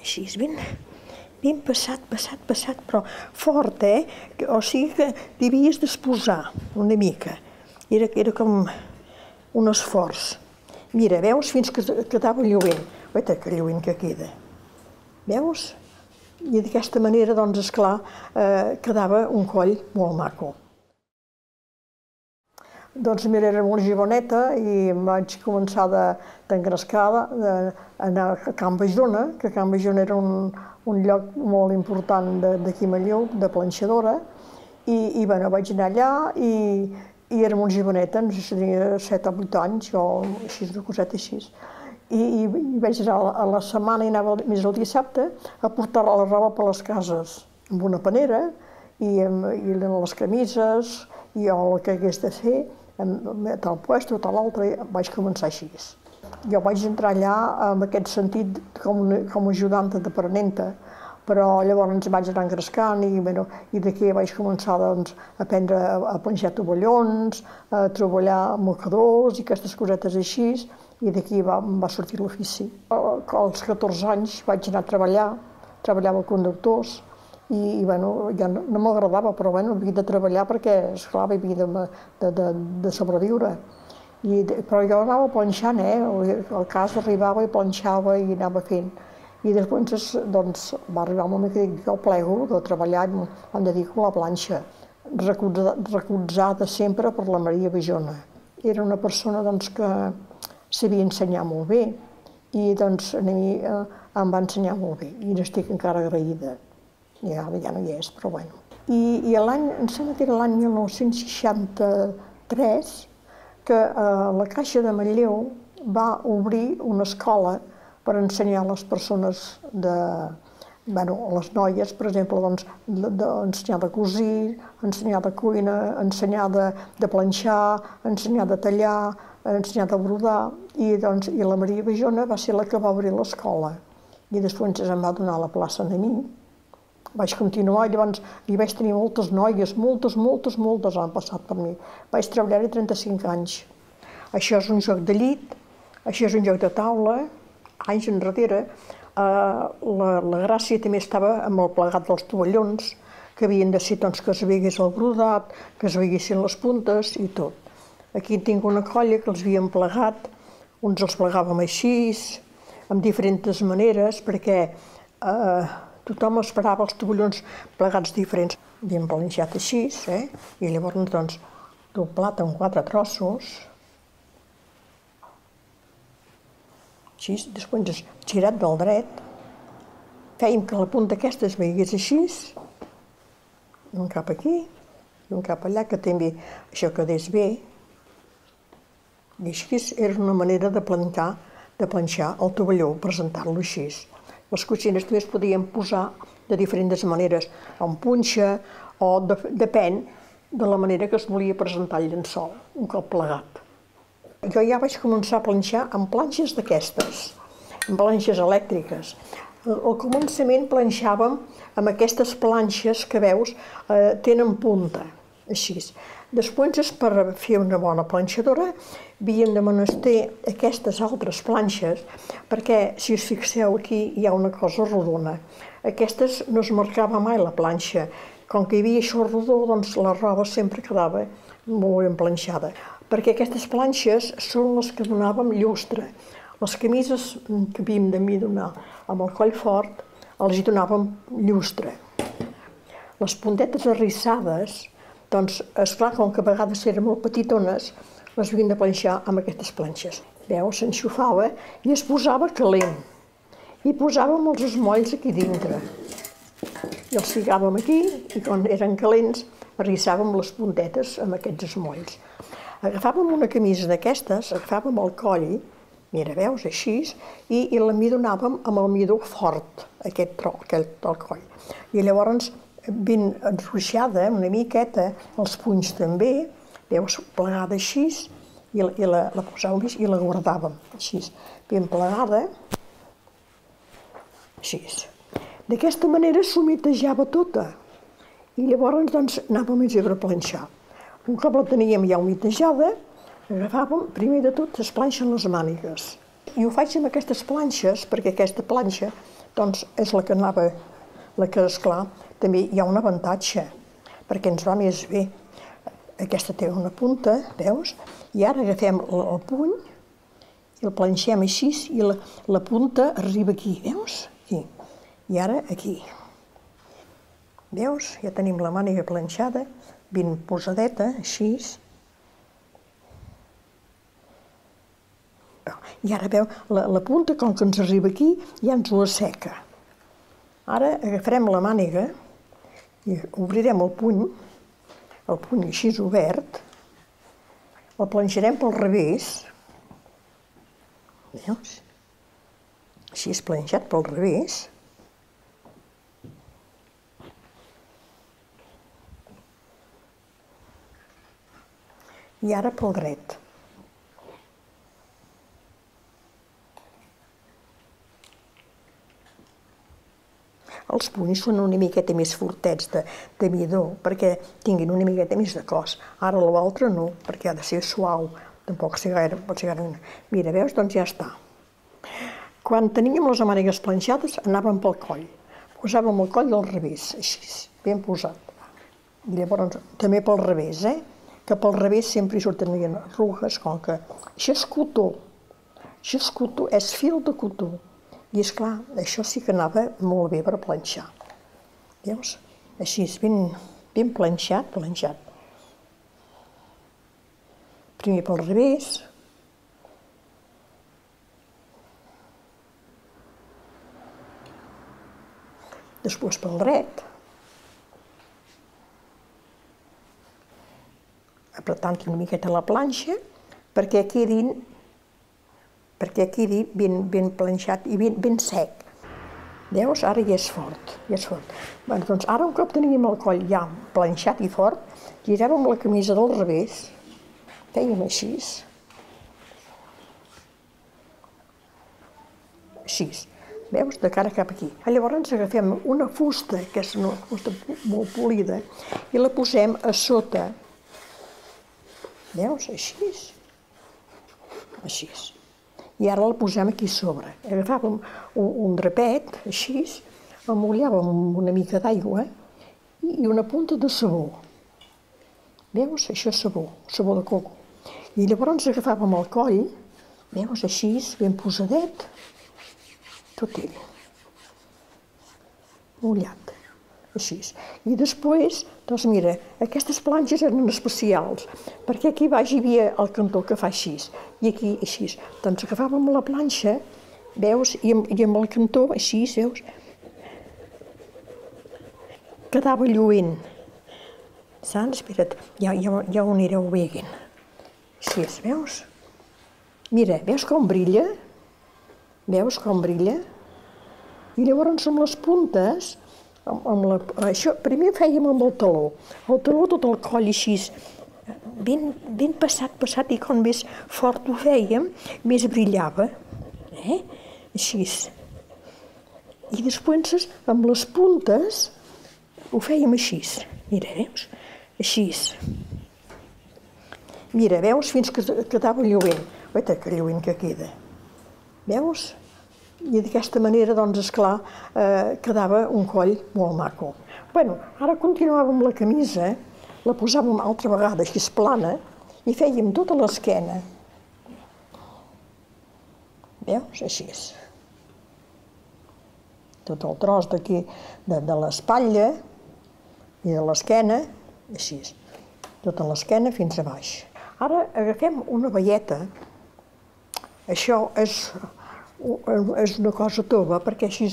així, ben passat, però fort, O sigui que t'hi havies d'exposar una mica. Era com un esforç. Mira, veus, fins que quedava lluent. Guaita, que lluent que queda. Veus? I d'aquesta manera, doncs, esclar, quedava un coll molt maco. Doncs mira, era molt joveneta i vaig començar d'engrescar, d'anar a Can Bajona, que Can Bajona era un lloc molt important d'aquí a Manlleu, de planxadora, i bueno, vaig anar allà i era molt joveneta, no sé si tenia 7 o 8 anys o així, una coseta així. I vaig anar a la setmana, i anava més el dissabte, a portar la roba per les cases, amb una panera, i les camises, i el que hagués de fer, tal puesto, tal altre, vaig començar així. Jo vaig entrar allà en aquest sentit com a ajudanta d'aprenenta, però llavors vaig anar engrescant i d'aquí vaig començar a aprendre a planxar tovallons, a treballar mocadors i aquestes cosetes així, i d'aquí em va sortir l'ofici. Als 14 anys vaig anar a treballar, treballava amb conductors, i ja no m'agradava, però havia de treballar perquè, esclar, havia de sobreviure. Però jo anava planxant, al cas arribava i planxava i anava fent. I després va arribar un moment que dic, jo plego de treballar, em dedico a la planxa, recolzada sempre per la Maria Bajona. Era una persona que sabia ensenyar molt bé i a mi em va ensenyar molt bé i n'estic encara agraïda. Ja no hi és, però bueno. I l'any, em sembla que era l'any 1963, que la Caixa de Manlleu va obrir una escola per ensenyar a les persones, a les noies, per exemple, ensenyar de cosir, ensenyar de cuina, ensenyar de planxar, ensenyar de tallar, ensenyar de brodar, i la Maria Bajona va ser la que va obrir l'escola. I després em va donar la plaça a mi. Vaig continuar, llavors hi vaig tenir moltes noies, moltes han passat per mi. Vaig treballar-hi 35 anys. Això és un joc de llit, això és un joc de taula, anys enrere. La gràcia també estava amb el plegat dels tovallons, que havien de ser que es veigués el brodat, que es veiguessin les puntes i tot. Aquí tinc una colla que els havíem plegat, uns els plegàvem així, amb diferents maneres, perquè tothom esperava els tovallons plegats diferents. Havíem planxat així, i llavors doblat en 4 trossos, així, després girat del dret, fèiem que la punta aquesta es veigués així, un cap aquí, i un cap allà, que també això quedés bé, i així era una manera de planxar el tovalló, presentar-lo així. Les cotxines també es podien posar de diferents maneres, amb punxa, o depèn de la manera que es volia presentar el llençol, un cop plegat. Jo ja vaig començar a planxar amb planxes d'aquestes, amb planxes elèctriques. Al començament planxàvem amb aquestes planxes que veus, tenen punta, així. Després, per fer una bona planxadora, havíem de menester aquestes altres planxes, perquè, si us fixeu, aquí hi ha una cosa rodona. Aquestes no es marcava mai la planxa. Com que hi havia això rodó, la roba sempre quedava molt ben planxada. Perquè aquestes planxes són les que donàvem llustre. Les camises que havíem de donar amb el coll fort, els hi donàvem llustre. Les puntetes arrissades, esclar, com que a vegades eren molt petitones, les havíem de planxar amb aquestes planxes. Veus, s'enxufava i es posava calent. I posàvem els esmolls aquí dintre. I els ficàvem aquí, i quan eren calents, arrissàvem les puntetes amb aquests esmolls. Agafàvem una camisa d'aquestes, agafàvem el coll, mira, veus, així, i la midonàvem amb el midó fort, aquest del coll. I llavors, ben enruixada, una miqueta, els punys també, veus, plegada així, i la posàvem així i la guardàvem, així, ben plegada, així. D'aquesta manera s'humitejava tota, i llavors anàvem a planxar. Un cop la teníem ja humitejada, agafàvem, primer de tot, es planxen les mànigues. I ho faig amb aquestes planxes, perquè aquesta planxa doncs és la que anava, la que, esclar, també hi ha un avantatge, perquè ens va més bé. Aquesta té una punta, veus? I ara agafem el puny i el planxem així i la punta arriba aquí, veus? Aquí. I ara aquí. Veus? Ja tenim la màniga planxada, ben posadeta, així. I ara, veu, la punta, com que ens arriba aquí, ja ens ho asseca. Ara agafarem la màniga i obrirem el puny així obert, el planxarem pel revés, veus? Així és planxat pel revés. I ara pel dret. Els punys són una miqueta més fortets de midó, perquè tinguin una miqueta més de cos. Ara l'altre no, perquè ha de ser suau. Tampoc pot ser gaire... Mira, veus? Doncs ja està. Quan teníem les mànigues planxades, anàvem pel coll. Posàvem el coll al revés, així, ben posat. I llavors, també pel revés, que pel revés sempre hi surten arrugues, com que... Això és cotó. Això és cotó, és fil de cotó. I, esclar, això sí que anava molt bé per planxar. Veus? Així, ben planxat. Primer pel revés. Després pel dret. Apretant una miqueta la planxa perquè quedi ben planxat i ben sec. Veus? Ara ja és fort, Bé, doncs ara, un cop teníem el coll ja planxat i fort, giràvem la camisa del revés, fèiem així. Així, veus? De cara cap aquí. Llavors agafem una fusta, que és una fusta molt polida, i la posem a sota. Veus? Així. Així. I ara la posem aquí sobre. Agafàvem un drapet, així, el mullàvem amb una mica d'aigua i una punta de sabó. Veus? Això és sabó de coco. I llavors agafàvem el coll, veus? Així, ben posadet, tot ell. Mullat, així. I després, doncs mira, aquestes planxes eren especials, perquè aquí baix hi havia el cantó que fa així, i aquí així. Doncs agafàvem la planxa, veus, i amb el cantó així, veus, quedava lluent. Saps? Espera't, ja ho anireu veient. Així, veus? Mira, veus com brilla? Veus com brilla? I llavors amb les puntes, això primer fèiem amb el taló tot el coll així, ben passat, i com més fort ho fèiem, més brillava, així. I després amb les puntes ho fèiem així, mira, veus? Així. Mira, veus, fins que quedava lluent. Guaita, que lluent que queda. Veus? I d'aquesta manera, doncs, esclar, quedava un coll molt maco. Bueno, ara continuàvem la camisa, la posàvem altra vegada així plana i fèiem tota l'esquena. Veus? Així. Tot el tros d'aquí, de l'espatlla i de l'esquena, així. Tota l'esquena fins a baix. Ara agafem una baieta. Això és una cosa tova, perquè així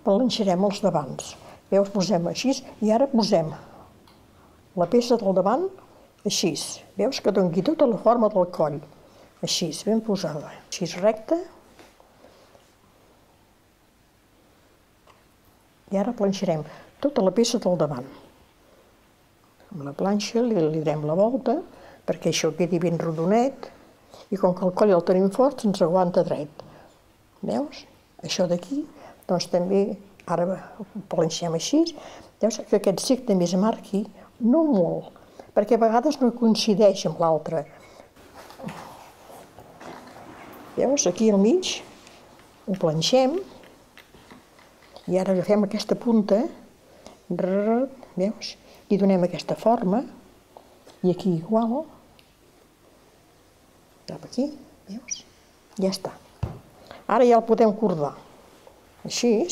planxarem els davants. Veus, posem així, i ara posem la peça del davant així. Veus que doni tota la forma del coll. Així, ben posada. Així recta. I ara planxarem tota la peça del davant. Amb la planxa li direm la volta, perquè això quedi ben rodonet, i com que el coll el tenim fort, ens aguanta dret. Veus? Això d'aquí, doncs també, ara ho planxem així, veus que aquest cec també es marqui, no molt, perquè a vegades no coincideix amb l'altre. Veus? Aquí al mig ho planxem, I ara agafem aquesta punta, veus? I donem aquesta forma, i aquí igual, cap aquí, veus? Ja està. Ara ja el podem cordar. Així,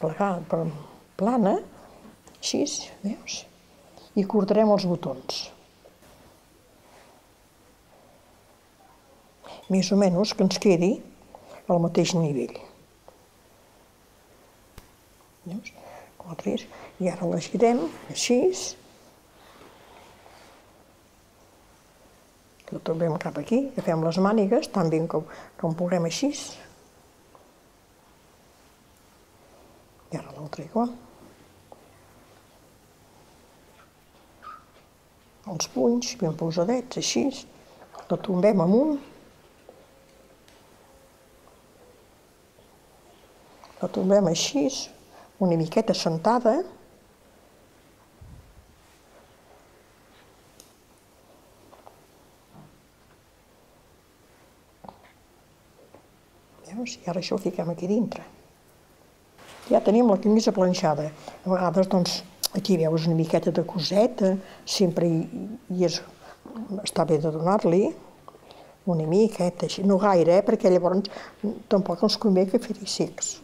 plegat, plana, així, veus? I cordarem els botons. Més o menys que ens quedi al mateix nivell. Veus? I ara la girem així. Ho trobem cap aquí, agafem les mànigues, tan bé com puguem així. I ara l'altra igual. Els punys ben posadets, així. La tombem amunt. La tombem així, una miqueta sentada. Veus? I ara això ho fiquem aquí dintre. Ja tenim la camisa planxada. A vegades, doncs, aquí veus una miqueta de coseta, sempre està bé de donar-li una miqueta, així, no gaire, perquè llavors tampoc ens convé que fer-hi secs.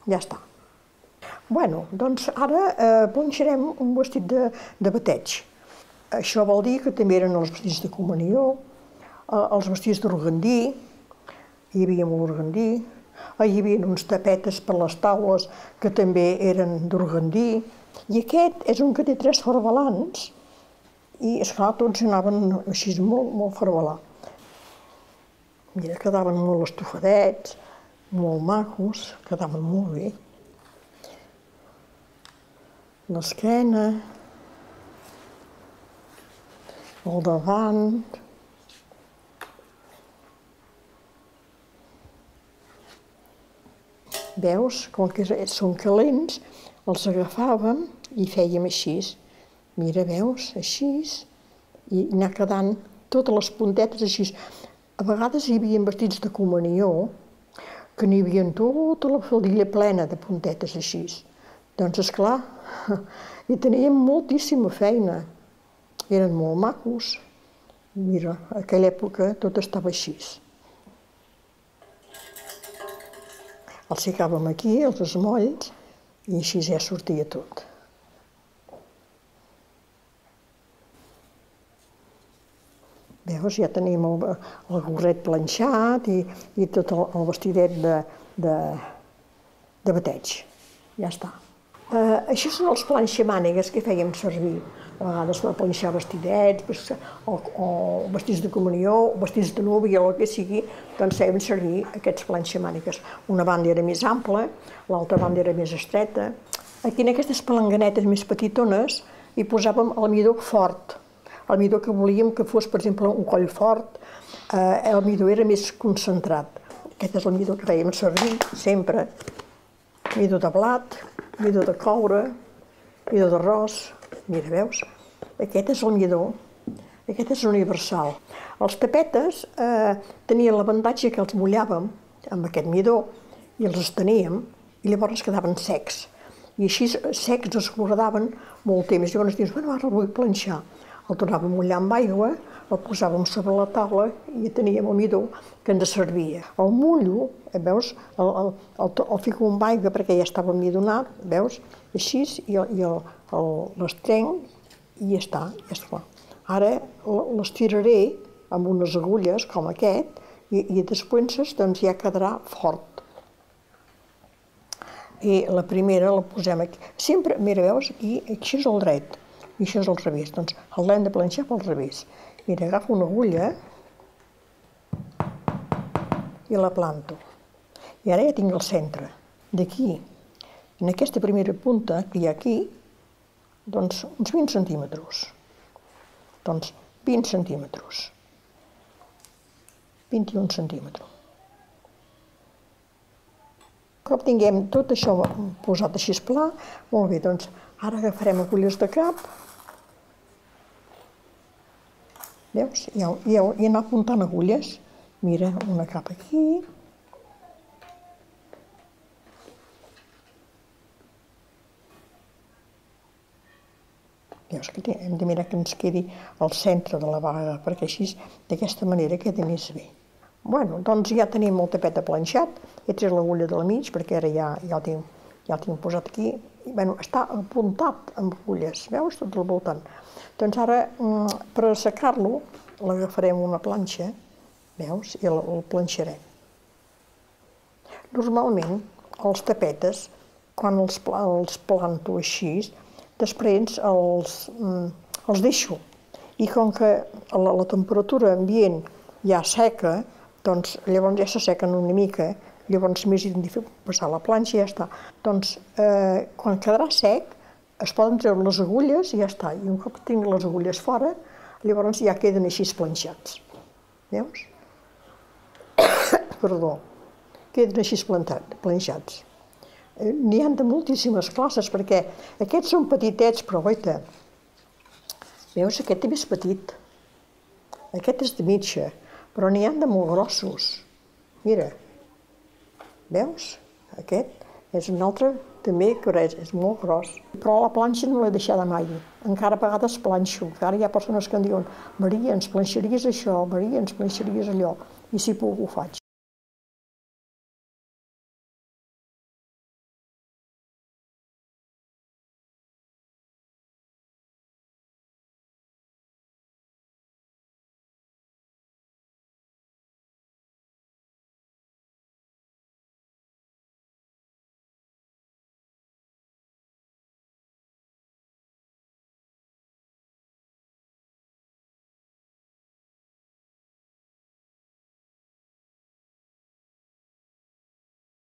Ja està. Bueno, doncs ara planxarem un vestit de bateig. Això vol dir que també eren els vestits de comunió, els vestits d'organdí, hi havia molt organdí, hi havia uns tapetes per les taules que també eren d'organdí, i aquest és un que té 3 farbalans, i esclar, tots anaven així molt farbalà. Mira, quedaven molt estofadets, molt macos, quedaven molt bé. L'esquena, el davant. Veus, com que són calents, els agafàvem i fèiem així. Mira, veus, així, i anar quedant totes les puntetes així. A vegades hi havia vestits de comunió que n'hi havia tota la faldilla plena de puntetes així. Doncs, esclar, hi teníem moltíssima feina. Eren molt macos. Mira, a aquella època tot estava així. Els ficàvem aquí, els esmolls, i així ja sortia tot. Veus, ja tenim el gorret planxat i tot el vestidet de bateig. Ja està. Això són els planxamànigues que fèiem servir. A vegades per planxar vestidets, o vestits de comunió, o vestits de núvia, o el que sigui, doncs fèiem servir aquests planxamànigues. Una banda era més ampla, l'altra banda era més estreta. Aquí en aquestes palanganetes més petitones hi posàvem el midó fort. El midó que volíem que fos, per exemple, un coll fort, el midó era més concentrat. Aquest és el midó que fèiem servir sempre. Midó de blat, midó de coure, midó d'arròs. Mira, veus? Aquest és el midó. Aquest és universal. Els tapetes tenien l'avantatge que els mullàvem amb aquest midó i els esteníem i llavors quedaven secs. I així secs es guardaven molt temps. Llavors dius, bueno, ara el vull planxar. El tornàvem a mullar amb aigua, el posàvem sobre la taula i teníem el midó que ens servia. El mullo, veus, el fico amb aigua perquè ja estava midonat, veus, així, i l'estrenc i ja està, ja està. Ara l'estiraré amb unes agulles com aquest i després doncs ja quedarà fort. I la primera la posem aquí. Sempre, mira, veus, aquí és el dret. I això és al revés, doncs l'hem de planxar pel revés. Mira, agafo una agulla i la planto. I ara ja tinc el centre. D'aquí, en aquesta primera punta que hi ha aquí, doncs uns 20 centímetres. Doncs 20 centímetres. 21 centímetres. Un cop tinguem tot això posat així pla, molt bé, doncs ara agafarem agulles de cap. Veus? I anar apuntant agulles. Mira, una cap aquí. Veus que hem de mirar que ens quedi al centre de la vaga, perquè així, d'aquesta manera, queda més bé. Bueno, doncs ja tenim el tapet planxat, he tret l'agulla de la mig, perquè ara ja el tinc posat aquí. I, bueno, està apuntat amb agulles, veus, tot al voltant. Doncs ara, per assecar-lo, l'agafarem una planxa, veus, i el planxarem. Normalment, els tapetes, quan els planto així, després els deixo. I com que la temperatura ambient ja seca, doncs llavors ja s'assequen una mica, llavors més identifico passar la planxa i ja està. Doncs quan quedarà sec, es poden treure les agulles i ja està. I un cop tinc les agulles fora, llavors ja queden així planxats. Veus? Perdó. Queden així planxats. N'hi ha de moltíssimes classes, perquè aquests són petitets, però goita, veus, aquest també és petit. Aquest és de mitja, però n'hi ha de molt grossos. Mira, veus? Aquest és un altre també que és molt gros. Però la planxa no l'he deixada mai. Encara a vegades planxo. Encara hi ha persones que em diuen: Maria, ens planxaries això, Maria, ens planxaries allò. I si puc ho faig.